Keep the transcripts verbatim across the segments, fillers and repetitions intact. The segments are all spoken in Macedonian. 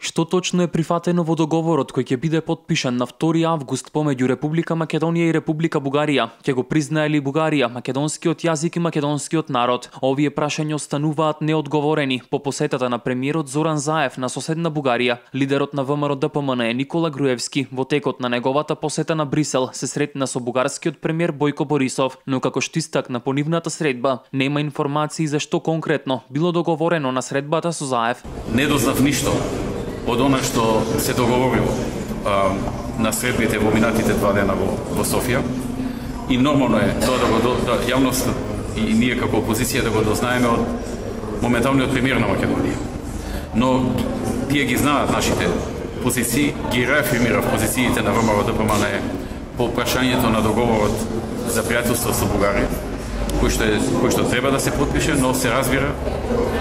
Што точно е прифатено во договорот кој ќе биде потпишан на втори август помеѓу Република Македонија и Република Бугарија? Ќе го признае ли Бугарија македонскиот јазик и македонскиот народ? Овие прашања остануваат неодговорени по посетата на премиерот Зоран Заев на соседна Бугарија. Лидерот на ВМРО Д П М Н Никола Груевски во текот на неговата посета на Брисел се сретна со бугарскиот премиер Бојко Борисов, но како што истакна по нивната средба, нема информации за што конкретно било договорено на средбата со Заев. Не дознав ништо од она што се договорило а, на средбите во минатите два дена во, во Софија, и нормално е тоа да го да, јавност и ние како опозиција да го дознаеме од моменталниот премиер на Македонија. Но тие ги знаат нашите позиции, ги реафирмирав позициите на ВМРО Д П М Н по прашањето на договорот за пријателство со Бугарија, кој што, е, кој што треба да се потпише, но се разбира,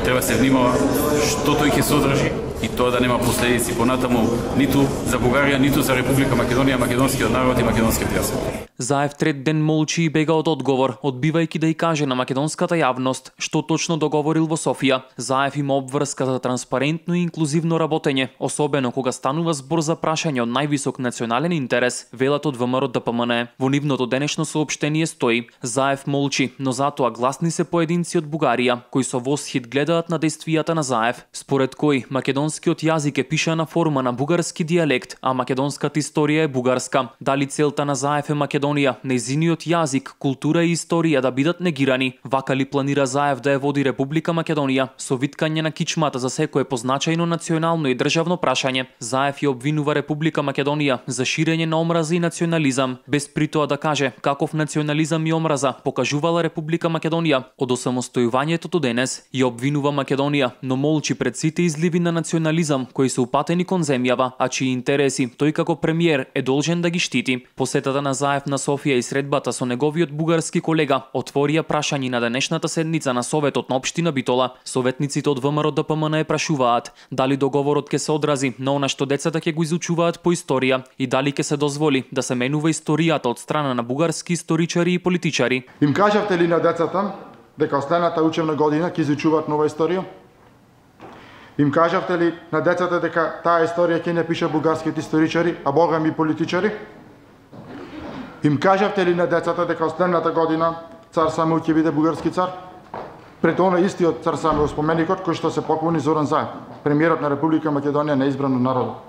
треба се внимава што тој ќе содржи и тоа да нема последици понатаму ниту за Бугарија, ниту за Република Македонија, македонскиот народ и македонскиот јазик. Заев трет ден молчи и бега од одговор, одбивајќи да и каже на македонската јавност што точно договорил во Софија. Заев има обврска за транспарентно и инклузивно работење, особено кога станува збор за прашање од највисок национален интерес, велат од ВМРО Д П М Н. Во нивното денешно соопштение стои: Заев молчи, но затоа гласни се поединци од Бугарија кои со восхит гледаат на действијата на Заев, според кој македонскиот јазик е пишана форма на бугарски дијалект, а македонската историја е бугарска. Дали целта на Заев е Македонија, нејзиниот јазик, култура и историја да бидат негирани? Вака ли планира Заев да ја води Република Македонија со виткање на кичмата за секое позначајно национално и државно прашање? Заев ја обвинува Република Македонија за ширење на омраза и национализам, без при тоа да каже каков национализам и омраза покажувала Република Македонија од осамостојувањето до денес. Ја обвинува Македонија, но молчи пред сите изливи на национализам кои се упатени кон земјава, а чии интереси тој како премиер е должен да ги штити. Посетата на Заев на Софија и средбата со неговиот бугарски колега отворија прашања на денешната седница на Советот на општина Битола. Советниците од ВМРО Д П М Н прашуваат дали договорот ќе се одрази на она што децата ќе го изучуваат по историја и дали ќе се дозволи да се менува историјата од страна на бугарски историчари и политичари. Им кажавте ли на децата дека останата учебна година ќе изучуваат нова историја? Им кажавте ли на децата дека таа историја ќе не пише бугарските историчари, а богами политичари? Им кажавте ли на децата дека останата година цар Самуил ќе биде бугарски цар? Пред она истиот цар Самуил споменикот кој што се поклони Зоран Заев, премиерот на Република Македонија неизбран од народот.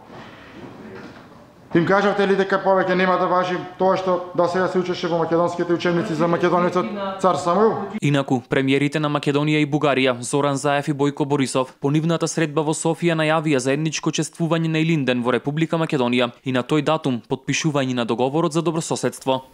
Им кажавте ли дека повеќе нема да важи тоа што до сега се учеше во македонските учебници за македонецот цар Самуил? Инаку, премиерите на Македонија и Бугарија, Зоран Заев и Бојко Борисов, по нивната средба во Софија најавија заедничко чествување на Илинден во Република Македонија и на тој датум потпишување на договорот за добрососедство.